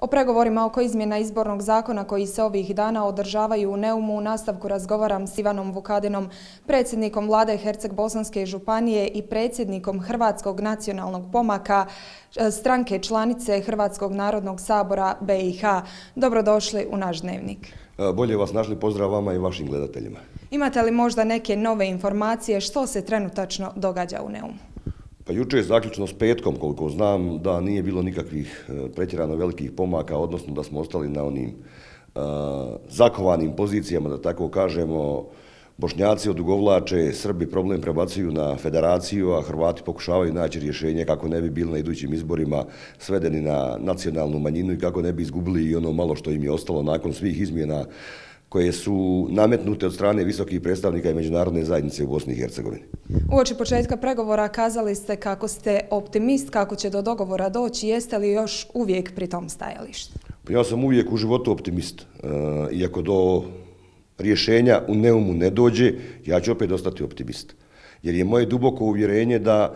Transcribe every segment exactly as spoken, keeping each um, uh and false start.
O pregovorima oko izmjena izbornog zakona koji se ovih dana održavaju u Neumu u nastavku razgovaram s Ivanom Vukadinom, predsjednikom vlade Herceg-Bosanske županije i predsjednikom Hrvatskog nacionalnog pomaka, stranke članice Hrvatskog narodnog sabora B i H. Dobrodošli u naš dnevnik. Bolje vas našli, pozdrav vama i vašim gledateljima. Imate li možda neke nove informacije što se trenutačno događa u Neumu? Pa jučer je zaključno s petkom, koliko znam, da nije bilo nikakvih pretjerano velikih pomaka, odnosno da smo ostali na onim uh, zakovanim pozicijama, da tako kažemo. Bošnjaci odugovlače, Srbi problem prebacuju na federaciju, a Hrvati pokušavaju naći rješenje kako ne bi bili na idućim izborima svedeni na nacionalnu manjinu i kako ne bi izgubili i ono malo što im je ostalo nakon svih izmjena koje su nametnute od strane visokih predstavnika i međunarodne zajednice u Bosni i Hercegovini. Uoči početka pregovora kazali ste kako ste optimist, kako će do dogovora doći. Jeste li još uvijek pri tom stajalištu? Ja sam uvijek u životu optimist. Iako do rješenja u Neumu ne dođe, ja ću opet ostati optimist. Jer je moje duboko uvjerenje da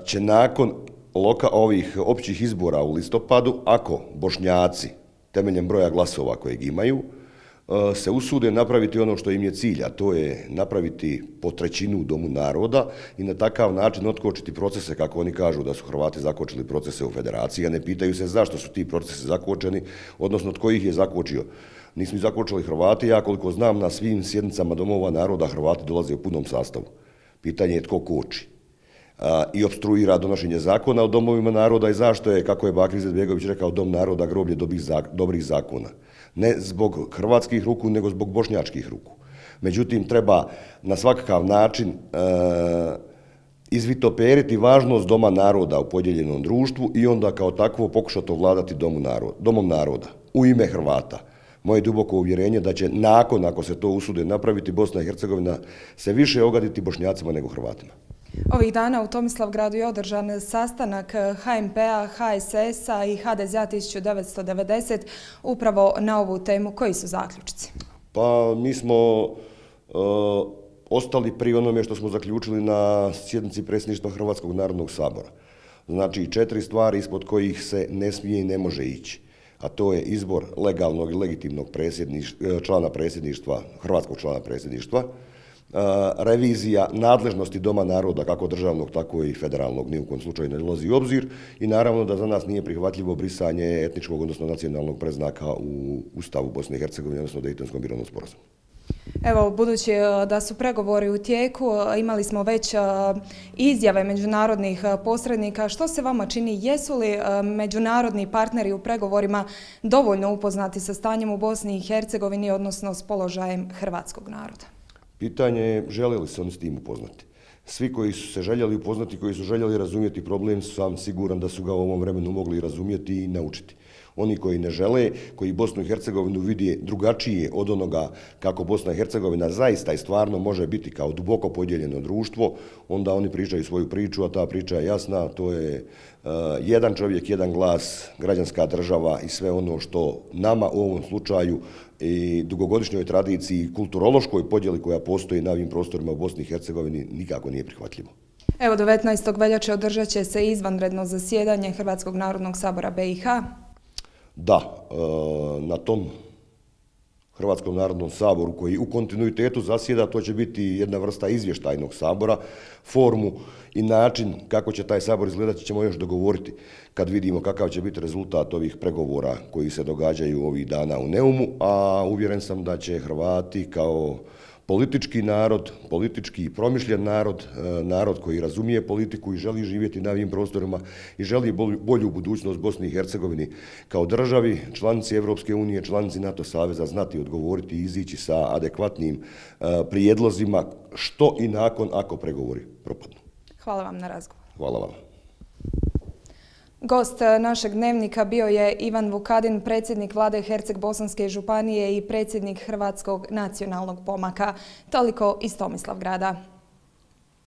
će nakon loka ovih općih izbora u listopadu, ako Bošnjaci temeljem broja glasova kojeg imaju, se usude napraviti ono što im je cilj, a to je napraviti po trećinu u Domu naroda i na takav način otkočiti procese, kako oni kažu da su Hrvati zakočili procese u federaciji, a ne pitaju se zašto su ti procesi zakočeni, odnosno tko ih je zakočio. Nismo ih zakočili Hrvati, ja koliko znam na svim sjednicama Domova naroda Hrvati dolaze u punom sastavu. Pitanje je tko koči i opstruira donošenje zakona o domovima naroda i zašto je, kako je Bakir Izetbegović rekao, Dom naroda groblje dobrih zakona. Ne zbog hrvatskih ruku, nego zbog bošnjačkih ruku. Međutim, treba na svakakav način e, izvitoperiti važnost Doma naroda u podijeljenom društvu i onda kao takvo pokušati ovladati domu naroda, Domom naroda u ime Hrvata. Moje duboko uvjerenje da će nakon, ako se to usude napraviti, Bosna i Hercegovina se više ogaditi Bošnjacima nego Hrvatima. Ovih dana u Tomislavgradu je održan sastanak H M P-a, H S S-a i H D Z-a tisuću devetsto devedeset upravo na ovu temu. Koji su zaključci? Pa mi smo uh, ostali pri onome što smo zaključili na sjednici predsjedništva Hrvatskog narodnog sabora. Znači četiri stvari ispod kojih se ne smije i ne može ići. A to je izbor legalnog i legitimnog člana predsjedništva, hrvatskog člana predsjedništva, revizija nadležnosti Doma naroda, kako državnog, tako i federalnog, ni u kojem slučaju ne dolazi u obzir i naravno da za nas nije prihvatljivo brisanje etničkog, odnosno nacionalnog predznaka u Ustavu Bosne i Hercegovine, odnosno Dejtonskom mirovnom sporazumu. Evo, budući da su pregovori u tijeku, imali smo već izjave međunarodnih posrednika. Što se vama čini? Jesu li međunarodni partneri u pregovorima dovoljno upoznati sa stanjem u Bosni i Hercegovini, odnosno s položajem hrvatskog naroda? Pitanje je žele li se oni s tim upoznati. Svi koji su se željeli upoznati, koji su željeli razumjeti problem, sam siguran da su ga u ovom vremenu mogli razumjeti i naučiti. Oni koji ne žele, koji Bosnu i Hercegovinu vidi drugačije od onoga kako Bosna i Hercegovina zaista i stvarno može biti kao duboko podijeljeno društvo, onda oni pričaju svoju priču, a ta priča je jasna, to je uh, jedan čovjek, jedan glas, građanska država i sve ono što nama u ovom slučaju i dugogodišnjoj tradiciji, kulturološkoj podjeli koja postoji na ovim prostorima u Bosni i Hercegovini nikako nije prihvatljivo. Evo, devetnaestog veljače održat će se izvanredno zasjedanje Hrvatskog narodnog sabora B i H. Da, na tom Hrvatskom narodnom saboru koji u kontinuitetu zasjeda, to će biti jedna vrsta izvještajnog sabora. Formu i način kako će taj sabor izgledati ćemo još dogovoriti kad vidimo kakav će biti rezultat ovih pregovora koji se događaju ovih dana u Neumu, a uvjeren sam da će Hrvati kao politički narod, politički i promišljen narod, narod koji razumije politiku i želi živjeti na ovim prostorima i želi bolju budućnost Bosni i Hercegovini kao državi, članici Evropske unije, članici NATO saveza, znati odgovoriti i izići sa adekvatnim prijedlozima što i nakon ako pregovori propadnu. Hvala vam na razgovor. Hvala vam. Gost našeg dnevnika bio je Ivan Vukadin, predsjednik vlade Herceg-Bosanske županije i predsjednik Hrvatskog nacionalnog pomaka. Toliko iz Tomislavgrada.